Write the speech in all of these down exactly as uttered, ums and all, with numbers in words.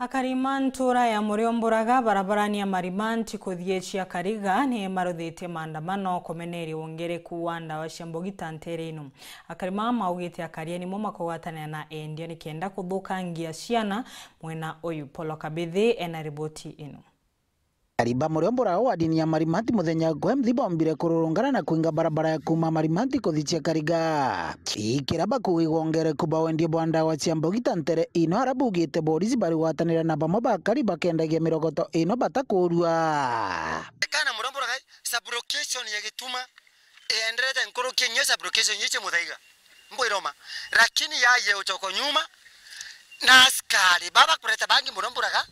Akari ma ntura ya Muriomburaga barabarani ya Marimanti kuthii Chiakariga ni maruthitie maandamano kumeneria wongereku wa ndawa cia mbogita ntere ino. Akari maa maugite akari aa nimo makugwatanira na endia nikenda kuthukangia ciana mwena uyu. Polo Kabithi ena riboti ino. Akari ba Muriomburaga wa dini ya Marimanti muthenya gwa mthi bombire kururungana na kuinga barabara ya kuuma Marimanti kuthii Chiakariga. Ikira bakuuga igwongereku ba wendia bwa ndawa cia mbogita ntere ino, ara baugite borisi barigwatanira na bamwe ba akari bakendagia mirogoto ino batakuurua. Kana Muriomburaga sub-location ya Gituma ienderete nkuruki nyo sub-location ici Muthaiga, mbwiroma, lakini yaye uchoko nyuma na askari baba kureta bangi Muriomburaga,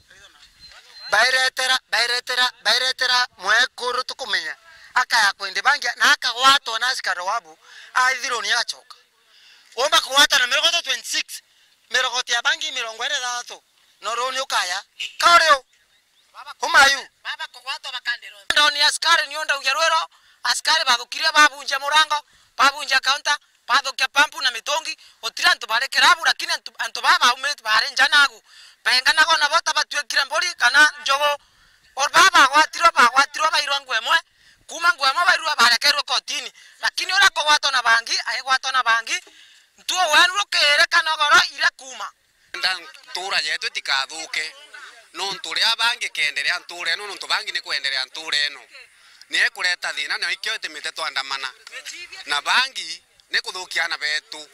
bairetera, bairetera, bairetera mwekuru tukumenya, akaya kwendi bangi na akagwatwa na askari wabu, aithirwo ni agachoka. Omba kugwata na mirogoto twenty-six, mirogoto ya bangi mirongo iri na ithatu, no runi ukaya. Ka uri u? Umayu. Baba kugwatwa bakandiro. Ndo ni askari ni undaugia rwiro, askari bathukirie babunja murango, babunja counter, bathukia pampu na mitungi, gutiri antu bari kirabu, lakini antu, antu baa baumite bari nja nagu. Benganaga nabo ta batuikire mburi kana njogu. O baa bagwatirwe, bagwatirwe bairwa nguo imwe, kuuma nguo imwe bairwa barekerwe kotini. Lakini uria akugwatwa na bangi, aigwatwa na bangi, ntuo wenu rukiri kanogoro ire kuuma. Nda ntura yetu itikathuke, nontu uria bangi keenderea ntura ino, nontu bangi ni kwenderea ntura ino. Ni ekureta thina, na ikio itimite twandamana. Na bangi ni kuthukia aana betu.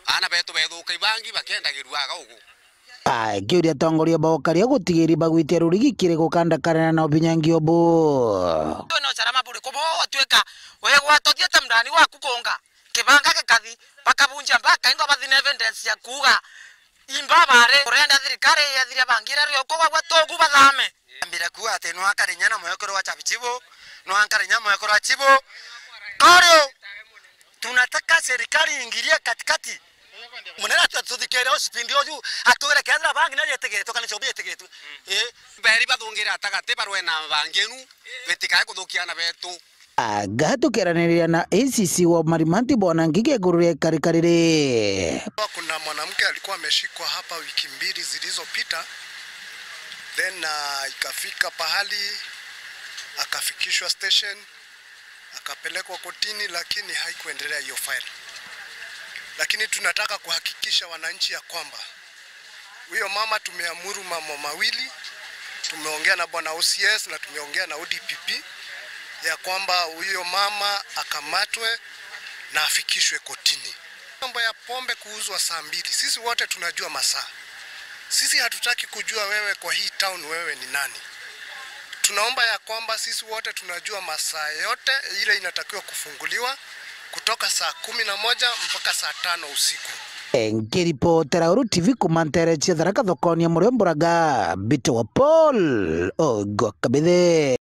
Aana betu bethuka, ibangi bakendagirua aga ugu. Akiuria atongoria ba ukaria gutigiria bagwitia rurigi kiri gukandakanana na ubinyangi ubu. Twina usalama buriku bugutwika wigwatwa thiete mndani waku kunga kibanga gikathi, bakabunja mpaka ingo bathi na evidence ya kuuga imba bare kurenda thirikari yethire bangire rio kugwa gwa tugu bathame. Ambire kuuga ati nwankare inya na mwekuru wa chabi chibu, nwankare inya mwekuru wa chibu. Korio, tunataka serikali iingilie katikati. Munene atu-, atuthikire ucipindi uju, atwire kethira bangi na yetigitwe kana chobi yetigitwe. Eh. Beri bathungire atagati barwe na bangi enu, betikae kuthukia aana betu. Aga tukiaraniriria na A C C wa Marimanti Bwana Ngigi iguru ria ikarika riri. Kuna mwanamke alikuwa ameshikwa hapa wiki mbili zilizopita, then, uh, ikafika pahali akafikishwa station, akapelekwa kotini, lakini haikuendelea hiyo file. Lakini tunataka kuhakikisha wananchi ya kwamba huyo mama tumeamuru mambo mawili, tumeongea na bwana O C S na tumeongea na O D P P, ya kwamba huyo mama akamatwe na afikishwe kotini. Mambo ya pombe kuuzwa saa mbili, sisi wote tunajua masaa. Sisi hatutaki kujua wewe kwa hii town wewe ni nani. Tunaomba ya kwamba sisi wote tunajua masaa yote ile inatakiwa kufunguliwa kutoka saa kumi na moja mpaka saa tano usiku. Nkiripotera Uru T V kuuma ntere cia Tharaka thokoni ya Muriomburaga, mbitagwa Paul Ogwa Kabithe.